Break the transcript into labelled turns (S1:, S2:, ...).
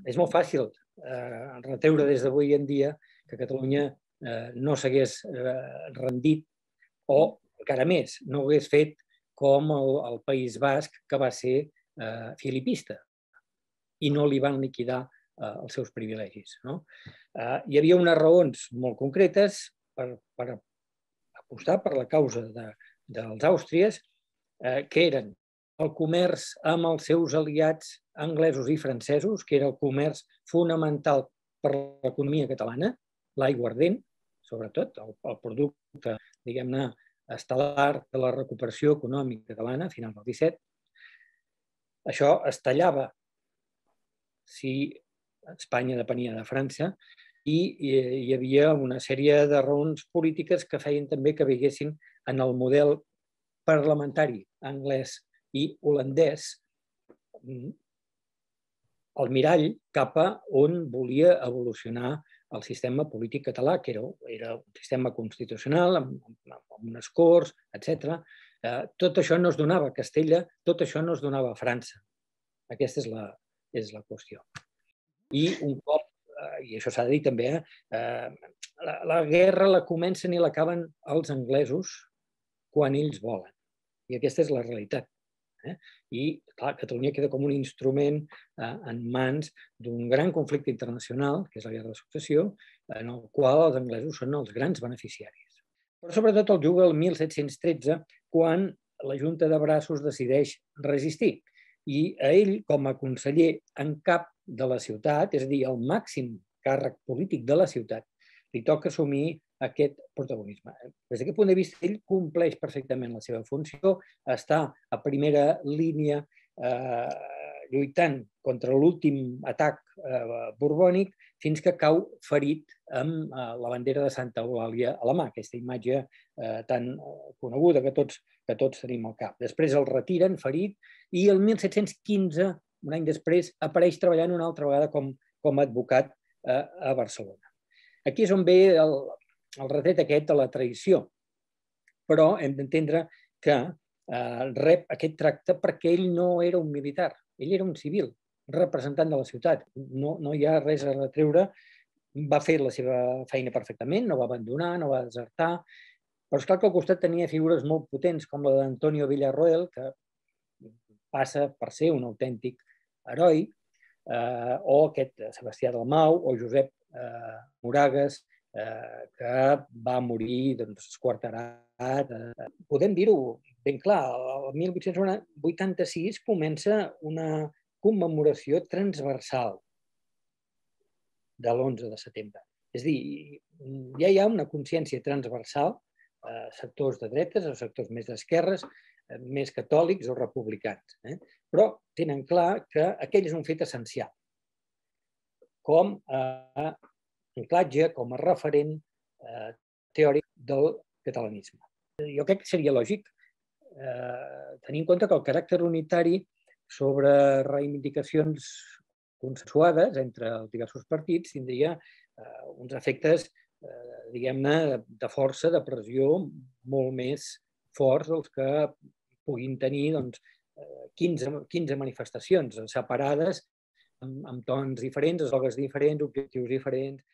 S1: és molt fàcil retreure des d'avui en dia que Catalunya no s'hagués rendit o, encara més, no ho hagués fet com el País Basc, que va ser filipista i no li van liquidar els seus privilegis. Hi havia unes raons molt concretes per apostar per la causa dels àustries, que eren el comerç amb els seus aliats anglesos i francesos, que era el comerç fonamental per l'economia catalana, l'aiguardent, sobretot, el producte, diguem-ne, estel·lar de la recuperació econòmica catalana a finals del 17. Això es tallava si Espanya depenia de França i hi havia una sèrie de raons polítiques que feien també que veiessin en el model parlamentari anglès i holandès el mirall cap a on volia evolucionar el sistema polític català, que era un sistema constitucional, amb unes corts, etc. Tot això no es donava a Castella, tot això no es donava a França. Aquesta és la qüestió. I un cop, i això s'ha de dir també, la guerra la comencen i l'acaben els anglesos quan ells volen. I aquesta és la realitat. I, clar, Catalunya queda com un instrument en mans d'un gran conflicte internacional, que és la Guerra de Successió, en el qual els anglesos són els grans beneficiaris. Però sobretot el juga el 1713, quan la Junta de Braços decideix resistir. I a ell, com a conseller en cap de la ciutat, és a dir, el màxim càrrec polític de la ciutat, li toca assumir aquest protagonisme. Des d'aquest punt de vista, ell compleix perfectament la seva funció, està a primera línia lluitant contra l'últim atac borbònic fins que cau ferit amb la bandera de Santa Eulàlia a la mà, aquesta imatge tan coneguda que tots tenim al cap. Després el retiren ferit i el 1715, un any després, apareix treballant una altra vegada com a advocat a Barcelona. Aquí és on ve el retret aquest de la traïció, però hem d'entendre que rep aquest tracte perquè ell no era un militar, ell era un civil, representant de la ciutat. No hi ha res a retreure, va fer la seva feina perfectament, no va abandonar, no va desertar, però és clar que al costat tenia figures molt potents com la d'Antonio Villarroel, que passa per ser un autèntic heroi, o aquest Sebastià Dalmau o Josep Moragues, que va morir esquarterat. Podem dir-ho ben clar, el 1886 comença una commemoració transversal de l'11 de setembre. És a dir, ja hi ha una consciència transversal, sectors de dretes o sectors més d'esquerres, més catòlics o republicans, però tenen clar que aquell és un fet essencial, com a anclatge, com a referent teòric del catalanisme. Jo crec que seria lògic tenir en compte que el caràcter unitari sobre reivindicacions consensuades entre els diversos partits tindria uns efectes, diguem-ne, de força, de pressió molt més forts dels que puguin tenir 15 manifestacions separades amb tons diferents, eslògans diferents, objectius diferents,